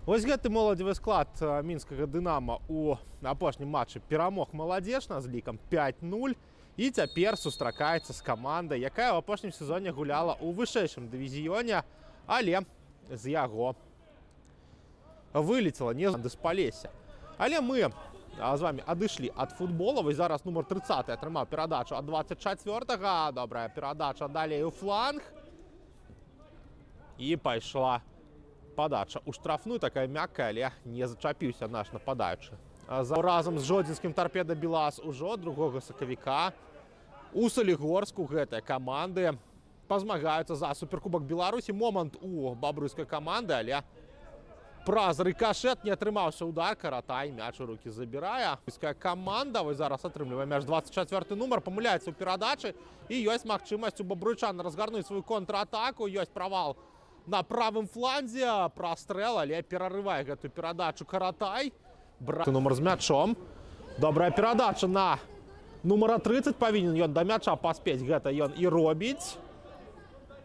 Вось гэты моладзевы склад мінскага «Дынамо» у апошнім матчы перамог «Маладзечна» з лікам 5-0 і цяпер сустракаецца з камандай, якая ў апошнім сезоне гуляла ў вышэйшым дывізіёне, але з яго вылецела не з Палесся. Але мы з вами адышлі ад футбола. Вось зараз нумар 30 атрымаў перадачу ад 24-га. Добрая перадача далей у фланг. І пайшла падача ў штрафную, такая мяккая, але не зачапіўся наш нападаючы. Разам з жодзінскім «Торпеда Белас» ужо 2 сакавіка у Салігорску гэтай каманды пазмагаюцца за суперкубак Беларусі. Момант у бабруйскай каманды, але праз рыкашэт не атрымаўся удар. Каратай мяч у рукі забірае. Бабруйская каманда вось зараз атрымлівае мяч. 24 нумар памыляецца ў перадачы і ёсць магчымасць у бабруйчан разгарнуць сваю контратаку. Ёсць правал на правым фланзе, прастрэл, але перарывае гэтую перадачу Каратай. Нумар з мячом. Добрая перадача на нумара 30. Павінен ён да мяча паспець. Гэта ён і робіць.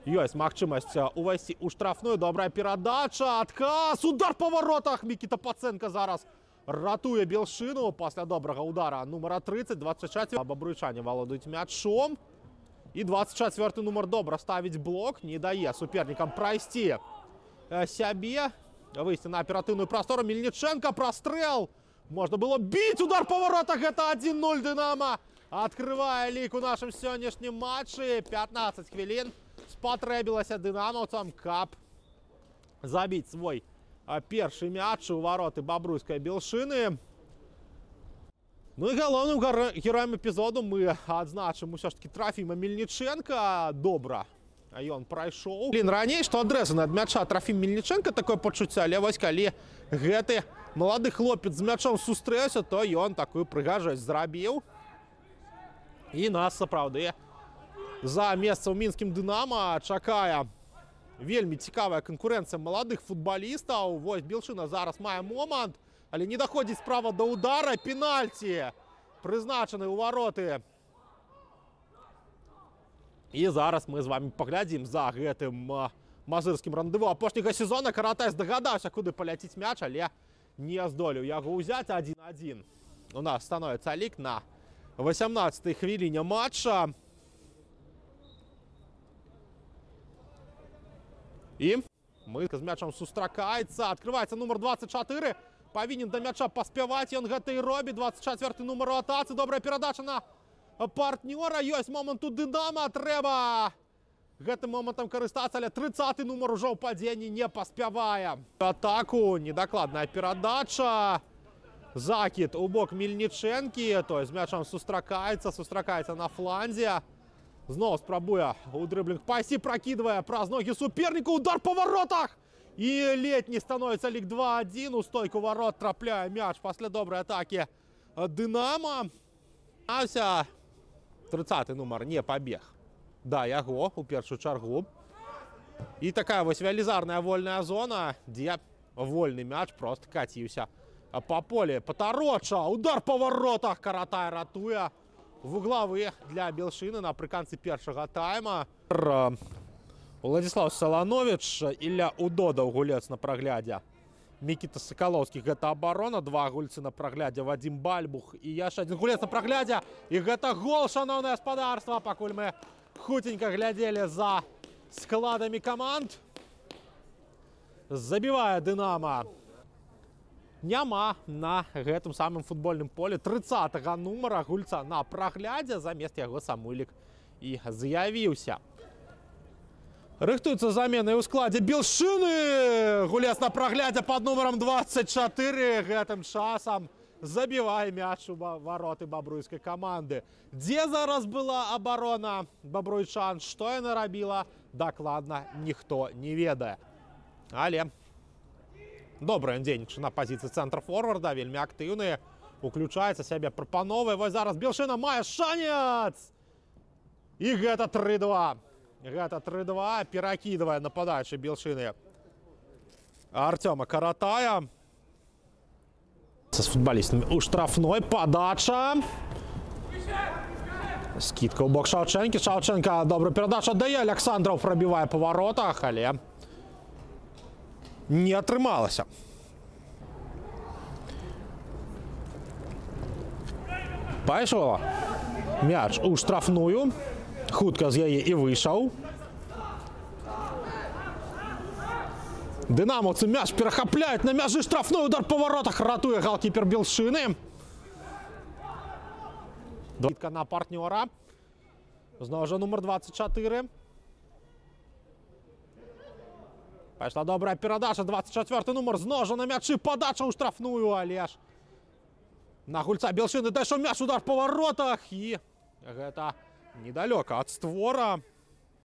Ёсць магчымасць увайсці ў штрафную. Добрая перадача. Адказ. Удар па варотах. Мікіта Паценка зараз ратуе Белшыну пасля добрага удара нумара 30. 24. Бабруйчане валодаюць мячом. І 24 нумар добра ставіць блок, не дае супернікам прайсці сябе, выйсці на аператыўную прастору. Мельніченко, прастрэл, можна было біць, удар па варотах, гэта 1-0 «Дынамо». Адкрывае лік у нашым сённяшнім матчы. 15 хвілін спатрэбілася дынамаўцам, каб забіць свой першы мяч у вароты бабруйскай Белшыны. Ну і галоўным героем эпізоду мы адзначым усё ж таки Трафіма Мельніченка. Добра ён прайшоў. Раней, што адрэзаны ад мяча Трафім Мельніченка, такое пачуццё, але вось калі гэты малады хлопец з мячом сустрэўся, то ён такую прыгажосць зрабіў. І нас сапраўды за месца ў мінскім «Дынамо» чакае вельмі цікавая канкурэнцыя маладых футбалістаў. Вось Белшына зараз мае момант, але не доходзіць справа да удара. Пенальці прызначаны ў вароты. І зараз мы з вами паглядзім за гэтым мазырскім рандеву апошняга сезона. Каратай здагадаўся, куды паляціць мяч, але не здолеў яго ўзяць. 1-1 у нас становіцца лік на 18-й хвіліне матча. І мы з мячом сустракаецца. Адкрываецца нумар 24. Павінен да мяча паспяваць, ён гэта і робіць. 24 нумар у атацы. Добрая перадача на партнёра. Ёсць момант у «Дынамо». Трэба гэтым момантам карыстацца, але 30 нумар ужо ў падзенні не паспявае. Атаку недакладная перадача. Закід у бок Мельнічэнкі. Той з мячом сустракаецца на фланзе. Зноў спрабуе у дрыблінг пайсці, пракідвае праз ногі суперніку. Удар па варотах! І летні становіцца лік 2-1. У стойку ворот трапляе мяч пасля добрай атакі «Дынамо». 30 нумар не пабег да яго у першую чаргу. І такая вось велізарная вольная зона, дзе вольны мяч проста каціўся па полі. Патароча, удар па варотах. Каратай ратуе вуглавы для Белшыны напрыканцы першага тайма. Владислав Саланович, Ілля Удодаў гулец на праглядзе. Мікіта Сакалоўскі, гэта абарона. 2 гульцы на праглядзе, Вадзім Бальбух і яшчэ адзін гулец на праглядзе. І гэта гол, шаноўнае гаспадарства, пакуль мы хутенька глядзелі за складамі каманд. Забівае «Дынамо». Няма на гэтым самым футбольным полі 30-га нумара гульца на праглядзе. Замест яго Самуйлік і з'явіўся. Рыхтуюцца замены ў складзе Белшыны. Гулец на праглядзе пад нумарам 24. Гэтым часам забівае мяч у вароты бабруйскай каманды. Дзе зараз была абарона бабруйчан, што яна рабіла, дакладна ніхто не ведае. Але добра ён дзейнічае на пазіцыі цэнтр-форварда, вельмі актыўны, уключаецца сябе, прапановае. Вось зараз Белшына мае шанец! І гэта 3-2. Гэта 3-2, перакідвае нападаючы Белшыны Артёма Каратая. З футбалістамі у штрафной. Падача. Скидка ў бок Шаўчэнкі. Шаўчэнка добра перадача дае. Александраў прабівае па варотах, але не атрымалася. Пайшов мяч у штрафную. Хутка з яе і выйшаў. Дынамаўцы мяч перахапляюць на мяжы штрафной. Удар па воротах ратуе галкіпер Белшчыны. Дітка на партнёра. Зноў жа нумар 24. Пайшла добрая перадача. 24 нумар зноў жа на мячы. Падача ў штрафную, але ж на гульца Белшчыны дайшоў мяч, удар па воротах. І гэта недалёка ад створа.